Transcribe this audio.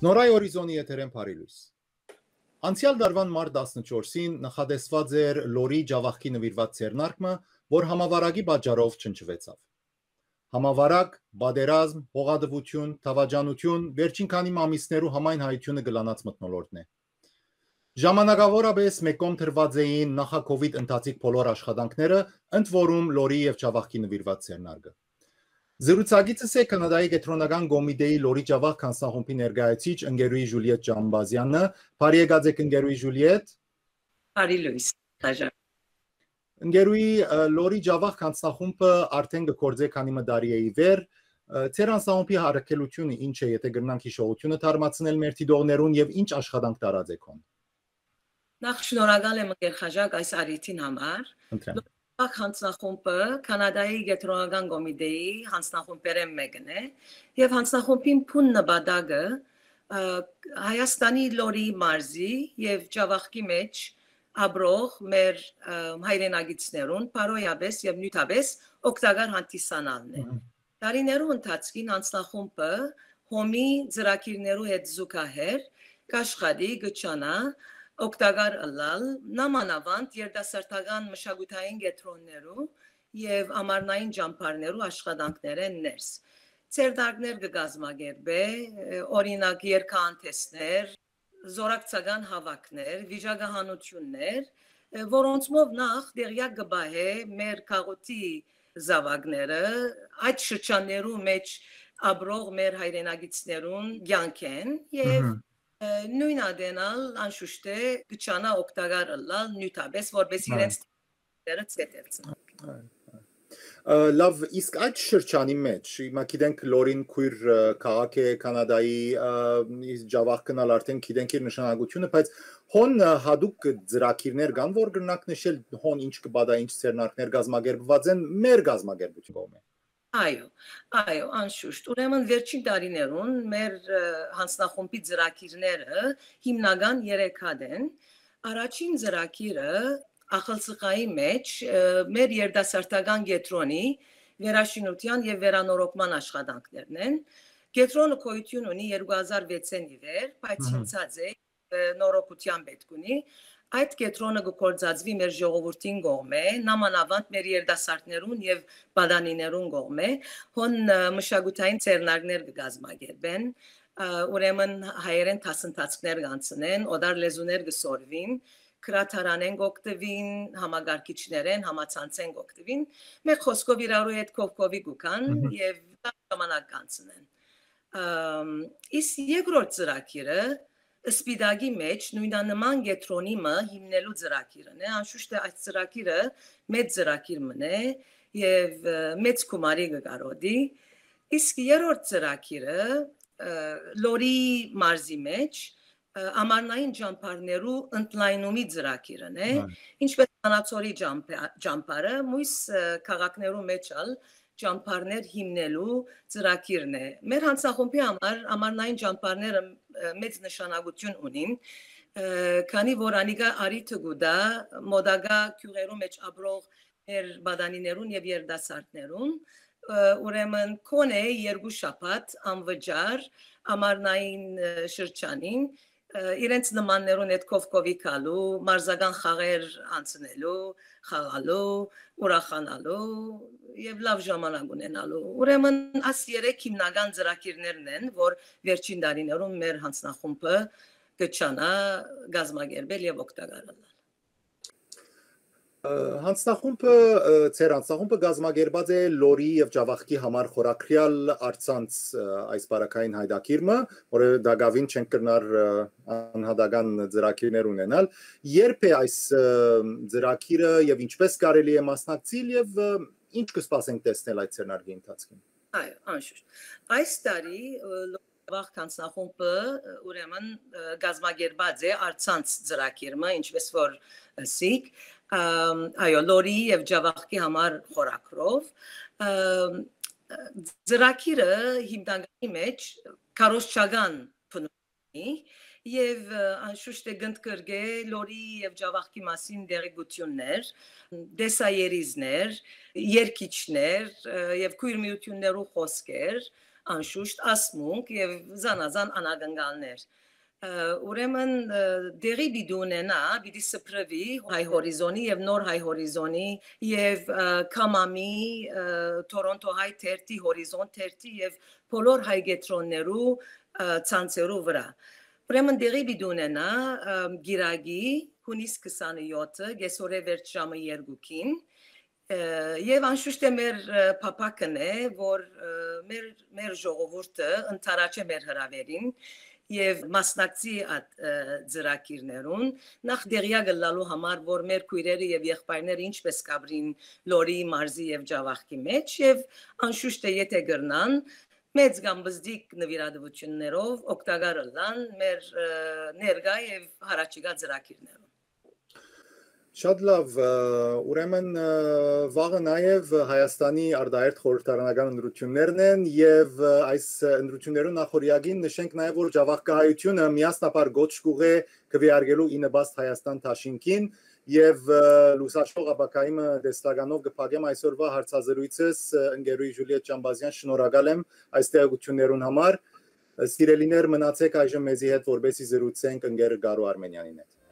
Նորայ օրիզոնի եթերեն Փարիլույս։ Անցյալ դարվան մարտ 14-ին նախադեсված էր լորի ջավախքի նվիրված ցերնարկը, որ համավարակի պատճառով չնչվեցավ։ Համավարակ, բادرազմ, հողադվություն, թավաջանություն վերջին քանի ամիսներու համայն հայությունը գլանած մթնոլորտն է։ Ժամանակավորապես մեկում թրված էին նախակովիդ ընթացիկ բոլոր աշխատանքները, ընդ որում լորի եւ ջավախքի նվիրված ցերնարկը։ Զրուցակիցս է կանադայի կենտրոնական կոմիտեի լորի ջավախք հանձնախումբի ներկայացիչ ընկերուհի Ժուլիետ Ջամբազյանը, բարի եկած ընկերուհի Ժուլիետ։ Բարի լույս, դաժան։ Ընկերուհի լորի ջավախք հանձնախումբը արդեն գործե քանի մդարի է ի վեր, Ձեր հանձնախումբի հարակելությունը ինչ է, եթե գրնանք հիշողությունը թարմացնել մեր դիտողներուն եւ ինչ աշխատանք տարած եք հոն։ Նախ շնորհակալ եմ ընկեր Խաժակ այս արիթին համար։ Ջավախք հանձնախումբը կանադայի կենտրոնական կոմիտեի հանձնախումբերեն մեկն է եւ հանձնախումբին փուն նպատակը Հայաստանի լորի մարզի եւ ջավախքի մեջ աբրող մեր հայրենագիտներուն բարոյաբես եւ նյութաբես օգտակար հանդիսանալն է։ Տարիներու ընթացքին հանձնախումբը հոմի ծրագիրներու հետ զուգահեռ կաշխատի գճանա օգտակար ըլլալ նամանավանդ երդասարտական մշակութային կենտրոններու եւ ամառնային ճամփարներու աշխատանքներեն ներս։ Ցերդակներ կգազմագերբե, օրինակ երգանտեսներ, զորակցական հավաքներ, վիճակահանություններ, որոնցով նախ դերյակ կբահե մեր քաղաքի զավակները այդ շրջաններու մեջ աբրող մեր հայրենագիտներուն կյանքեն եւ նույն ադենալ անշուշտ է գճանա օգտակար ըլլալ նյութաբես որպես իրենց դերը ցետելցն։ Լավ, իսկ այդ շրջանի մեջ, հիմա գիտենք լորին քույր քաղաք է կանադայի ջավախքնալ արդեն գիտենք իր նշանակությունը, բայց հոն հadoop ծրագիրներ կան, որ գրնակ նշել հոն ինչ կբադա ինչ ցերնարկներ գազմագերբված են մեր գազմագերբություն կողմէ։ Այո, անշուշտ։ Ուրեմն վերջին տարիներուն մեր հանձնախումբի ծրագիրները հիմնական 3 հատ են։ Առաջին ծրագիրը ախալսխայի մեջ մեր երդասարտական կենտրոնի վերաշինության եւ վերանորոգման աշխատանքներն են։ Կենտրոնը գոյություն ունի 2006-ին ի վեր, բայց հնցած է նորոգության պետք ունի։ Այդ կենտրոնը գործածվի մեր ժողովրդին կողմէ, նամանավանդ մեր երդասարտներուն եւ բադանիներուն կողմէ, հոն մշակութային ցերնարկներ կգազմագերբեն, ուրեմն հայերեն դասընթացներ կանցնեն, օդար լեզուներ կսորվին, քրաթարանեն գոկտվին, համագարկիչներեն, համացանցեն գոկտվին, մեր խոսքով իրարու հետ կողքովի գուքան եւ ժամանակ կանցնեն։ Իսկ երկրորդ ծրագիրը Սպիդագի մեջ նույնանման կենտրոնի հիմնելու ծրագիրն է, անշուշտ այդ ծրագիրը մեծ ծրագիր մնե եւ մեծ գումարի կկարողի, իսկ երրորդ ծրագիրը լորի մարզի մեջ ամառնային ճամփարներու ընդլայնումի ծրագիրն է, ինչպես Անացորի ճամփարը, մյուս քաղաքներու մեջ ճամփարներ հիմնելու ծրագիրն է։ Մեր հանձնախումբի համար ամառնային ճամփարները մեծ նշանակություն ունին, քանի որ անիկա արիթը գուտա մոդագա քյուրերու մեջ աբրող մեր բադանիներուն եւ երդասարտներուն, ուրեմն կոնե 2 շաբաթ անվճար ամառնային շրջանին իրենց նմաններուն հետ կովկովի կալու, մարզական խաղեր անցնելու, խաղալու, ուրախանալու եւ լավ ժամանակ ունենալու։ Ուրեմն աս 3 հիմնական ծրագիրներն են, որ վերջին տարիներում մեր հանձնախումբը կճանա գազմագերբել եւ օգտակարել։ Հանձնախումբը, ձեր հանձնախումբը գազմագերբած է լորի եւ ջավախքի համար խորակրյալ արցանց այս բարակային հայդակիրը, որը դակավին չեն կրնար անհատական ծրագիրներ ունենալ, երբ է այս ծրագիրը եւ ինչպես կարելի է մասնակցել եւ ինչ կսպասենք տեսնել այդ ցերնարկի ընթացքին։ Այո, անշուշտ։ Այս տարի Ջավախք հանձնախումբը ուրեմն գազմագերբած է արցանց ծրագիրը, ինչպես որ ասիկ, այո, լորի եւ ջավախքի համար խորակրով ծրագիրը հիմնարկի մեջ կարոշչական փնունի եւ անշուշտ է գնդկրգե լորի եւ ջավախքի մասին դերեկություններ, դեսայերիզներ, երկիչներ եւ քույր միություններու խոսքեր անշուշտ ասմունք եւ զանազան անագնգալներ ուրեմն դերի բիդունենա բիդի սփրվի հայ հորիզոնի եւ նոր հայ հորիզոնի եւ կամամի Թորոնտո հայ թերթի հորիզոն թերթի եւ բոլոր հայ գետրոններու ցանցերու վրա ուրեմն դերի բիդունենա գիրագի հունիս 27-ը գեսորե վերջ ժամը 2-ին եւ անշուշտ մեր փապակն է որ մեր ժողովուրդը ընթരാճե մեր հրավերին եւ մասնակցի այդ ծրագիրներուն նախ դերյակ լալու համար որ մեր քույրերը եւ եղբայրները ինչպես կաբրին լորի մարզի եւ ջավախքի մեջ եւ անշուշտ եթե գրնան մեծ կամ բզդիկ նվիրատվություններով օգտակար լան մեր ներգա եւ հարաճիգա ծրագիրներով Շատ լավ, ուրեմն վաղը նաև Հայաստանի արտահերթ խորհրդարանական ընտրություններն են եւ այս ընտրություններուն նախորյակին նշենք նաև որ Ջավախքահայությունը միասնապար գոչ կուղե քվեարկելու ինըբաստ Հայաստան Թաշինքին եւ լուսաշխող ապակայիմը դեստականով կփակեմ այսօրվա հարցազրույցս ընկերուհի Ժուլիետ Ճամբազյան շնորհակալ եմ այս տեղեկություններուն համար Սիրելիներ մնացեք այժմ մեզի հետ որբեսի զրուցենք ընկեր Գարու Արմենյանին հետ